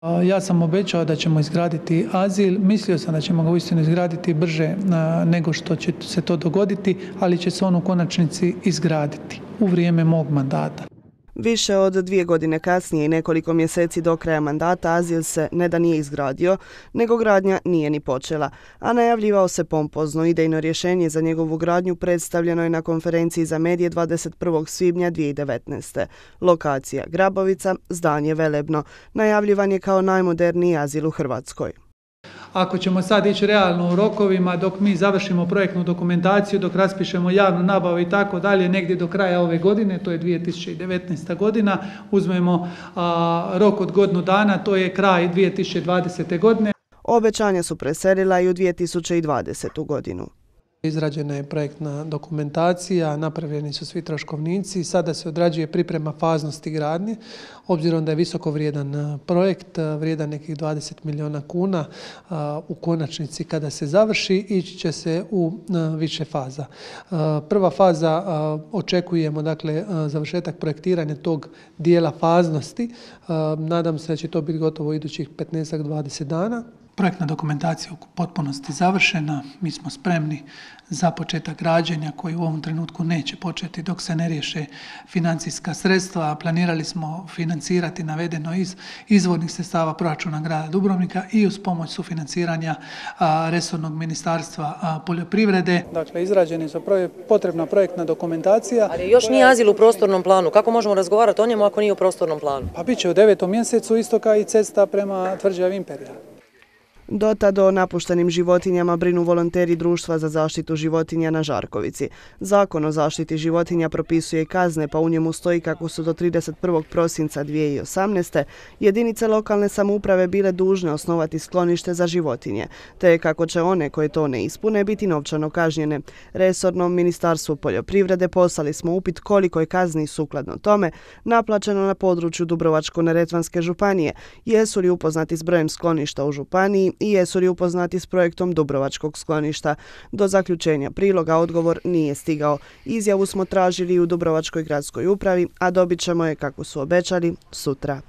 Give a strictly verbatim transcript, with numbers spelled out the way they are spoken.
Ja sam obećao da ćemo izgraditi azil, mislio sam da ćemo ga uistinu izgraditi brže nego što će se to dogoditi, ali će se on u konačnici izgraditi u vrijeme mog mandata. Više od dvije godine kasnije i nekoliko mjeseci do kraja mandata azil se ne da nije izgradio, nego gradnja nije ni počela, a najavljivao se pompozno. Idejno rješenje za njegovu gradnju predstavljeno je na konferenciji za medije dvadeset prvog svibnja dvije tisuće devetnaeste. Lokacija Grabovica, zdanje velebno, najavljivan je kao najmoderniji azil u Hrvatskoj. Ako ćemo sad ići realno u rokovima, dok mi završimo projektnu dokumentaciju, dok raspišemo javnu nabavu i tako dalje, negdje do kraja ove godine, to je dvije tisuće devetnaesta godina, uzmemo a, rok od godinu dana, to je kraj dvije tisuće dvadesete godine. Obećanja su preselila i u dvije tisuće dvadesetu godinu. Izrađena je projektna dokumentacija, napravljeni su svi troškovnici, sada se odrađuje priprema faznosti gradnje, obzirom da je visoko vrijedan projekt, vrijedan nekih dvadeset milijuna kuna, u konačnici kada se završi ići će se u više faza. Prva faza očekujemo, dakle, završetak projektiranja tog dijela faznosti, nadam se da će to biti gotovo idućih petnaest do dvadeset dana. Projektna dokumentacija u potpunosti završena, mi smo spremni za početak građenja koji u ovom trenutku neće početi dok se ne riješe financijska sredstva. Planirali smo financirati navedeno iz izvornih sredstava proračuna grada Dubrovnika i uz pomoć sufinanciranja a, resornog ministarstva a, poljoprivrede. Dakle, izrađena je potrebna projektna dokumentacija. Ali još nije azil u prostornom planu. Kako možemo razgovarati o njemu ako nije u prostornom planu? Pa bit će u devetom mjesecu isto kao i cesta prema tvrđavi Imperija. Do tada o napuštenim životinjama brinu volonteri Društva za zaštitu životinja na Žarkovici. Zakon o zaštiti životinja propisuje kazne, pa u njemu stoji kako su do trideset prvog prosinca dvije tisuće osamnaeste. jedinice lokalne samouprave bile dužne osnovati sklonište za životinje, te kako će one koje to ne ispune biti novčano kažnjene. Resornom Ministarstvu poljoprivrede poslali smo upit koliko je kazni sukladno tome naplaćeno na području Dubrovačko-neretvanske županije, jesu li upoznati s brojem skloništa u županiji i jesu li upoznati s projektom Dubrovačkog skloništa. Do zaključenja priloga odgovor nije stigao. Izjavu smo tražili u Dubrovačkoj gradskoj upravi, a dobit ćemo je, kako su obećali, sutra.